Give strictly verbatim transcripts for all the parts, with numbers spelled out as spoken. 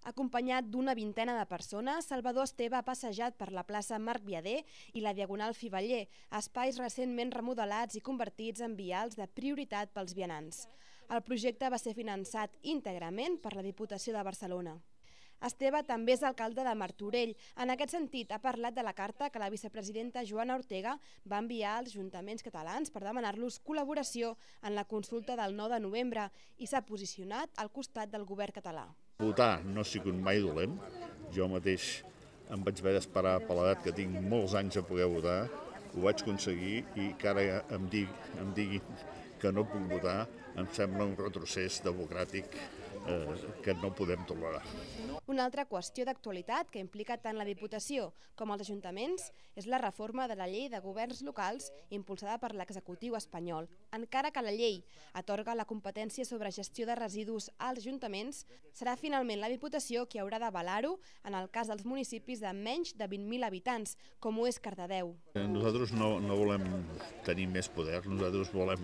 Acompanyat d'una vintena de persones, Salvador Esteve ha passejat per la plaça Marc Viader i la Diagonal Fiveller, espais recentment remodelats i convertits en vials de prioritat pels vianants. El projecte va ser finançat íntegrament per la Diputació de Barcelona. Esteve també és alcalde de Martorell. En aquest sentit, ha parlat de la carta que la vicepresidenta Joana Ortega va enviar als ajuntaments catalans per demanar-los col·laboració en la consulta del nou de novembre i s'ha posicionat al costat del govern català. Votar no ha sigut mai dolent. Jo mateix em vaig haver d'esperar per l'edat que tinc molts anys a poder votar. Ho vaig aconseguir i que ara em, dig, em diguin que no puc votar em sembla un retrocés democràtic eh, que no podem tolerar. Una altra qüestió d'actualitat que implica tant la Diputació com els ajuntaments és la reforma de la llei de governs locals impulsada per l'executiu espanyol. Encara que la llei atorga la competència sobre gestió de residus als ajuntaments, serà finalment la Diputació qui haurà d'avalar-ho en el cas dels municipis de menys de vint mil habitants, com ho és Cardedeu. Nosaltres no, no volem tenir més poder, nosaltres volem,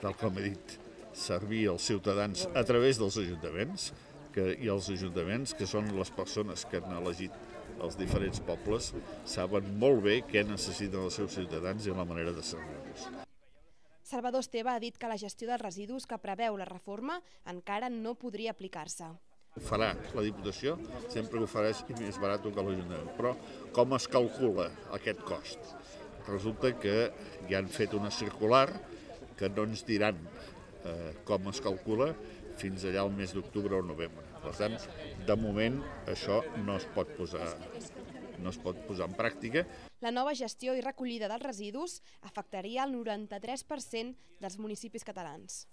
tal com he dit, servir els ciutadans a través dels ajuntaments, que, i els ajuntaments, que són les persones que han elegit els diferents pobles, saben molt bé què necessiten els seus ciutadans i la manera de servir-los. Salvador Esteve ha dit que la gestió dels residus que preveu la reforma encara no podria aplicar-se. Ho farà la Diputació sempre que ho farà més barat que l'Ajuntament, però com es calcula aquest cost? Resulta que ja han fet una circular que no ens diran eh, com es calcula fins allà al mes d'octubre o novembre. Per tant, de moment això no es pot posar, no es pot posar en pràctica. La nova gestió i recollida dels residus afectaria el noranta-tres per cent dels municipis catalans.